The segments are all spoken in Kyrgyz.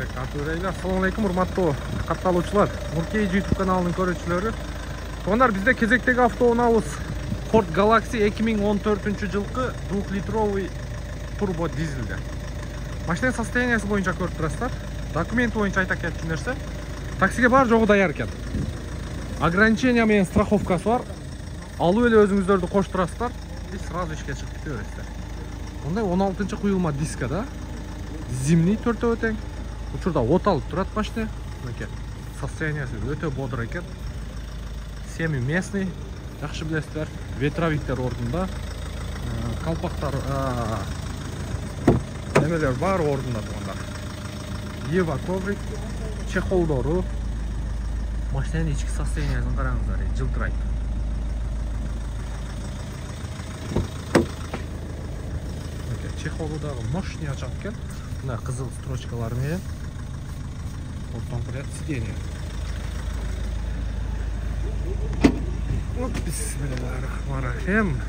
Assalomu alaykum урматтуу катталуучулар, Нуркей YouTube каналынын көрүүчүлөрү. Туугандар, бизде кезектеги автоунаабыз Ford Galaxy 2014-жылкы 2-литровый турбо дизелде. Машинанын состояниясы боюнча көрүп турасыздар. Документи боюнча айта кеткен нерсе, таксиге бар жогу даяр экен. Ограничение менен страховкасы бар. Алып эле өзүңүздөрдү коштурасыздар, биз сразу ишке чыгып кете бересиздер. Мындай 16-куюлма диска да. Зимний төртөө тең. Учурда от алып турат машина. Мынакей. Состояниясы өтө бодро экен. Семи местный, жакшы билесиздер. Ветровиктер ордунда. Калпактар, немелер бар ордунда туугандар. Ева коврик, чехолдору. Машинанын ички состояниясын караңыздар, жылтырайт. Чехолу дагы мощный ачат экен. Мына кызыл строчкалар менен. Оттон кырат сиденье. Бисмиллахиррахманиррахим.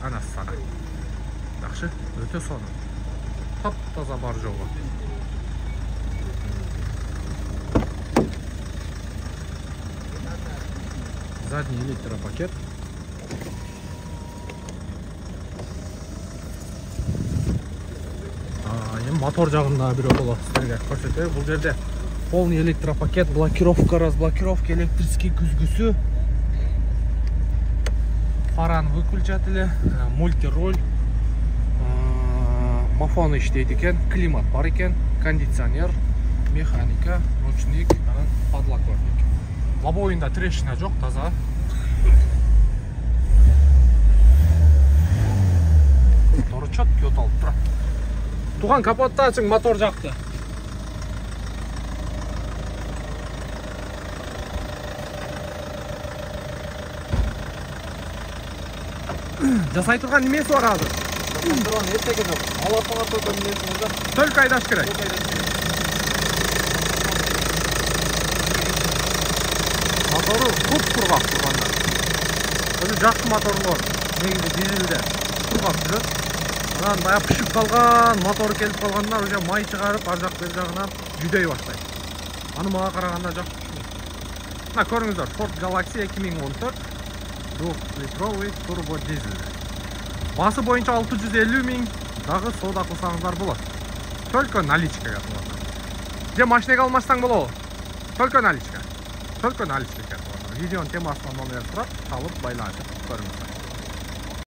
Ана сара. Жакшы, өтө сонун. Тап-таза бар жолу. Задний электропакет. Мотор жагында бирок силерге көрсөтөйм. Бул жерде полный электропакет, блокировка, разблокировка, электрический күзгүсү, фараны выключатели, мультироль, мафон иштейт экен, климат бар экен, кондиционер, механика, ручник, подлокотник. Лобовойунда трещина жок, таза. Мотор четкий оталып турат. Туган капотты ачың, мотор жакты. Жасай турган немеси бар азыр? Жасай турган эчеге жок. Алатыңа только немеси бар. Только айдаш керек. Мотору туп-тургак тургандар. Өзү жакшы моторлор. Негизи дизелде тургак жүрөт. Анан баягы пышып калган, мотор келип калгандар уже май чыгарып, ар жак бер жагынан жүдөй баштайт. Аны мага караганда жакшы түшүнөт. Мына көрүңүздөр, Ford Galaxy 2014 2-литровый турбо дизель. Басы боюнча 650 000, дагы соода кылсаңыздар болот. Только наличкага турат. Же машинеге алмастан болобу? Только наличка. Только наличка турат. Видеонун темасынан номер сурап, алып байланышып көрүңүздөр.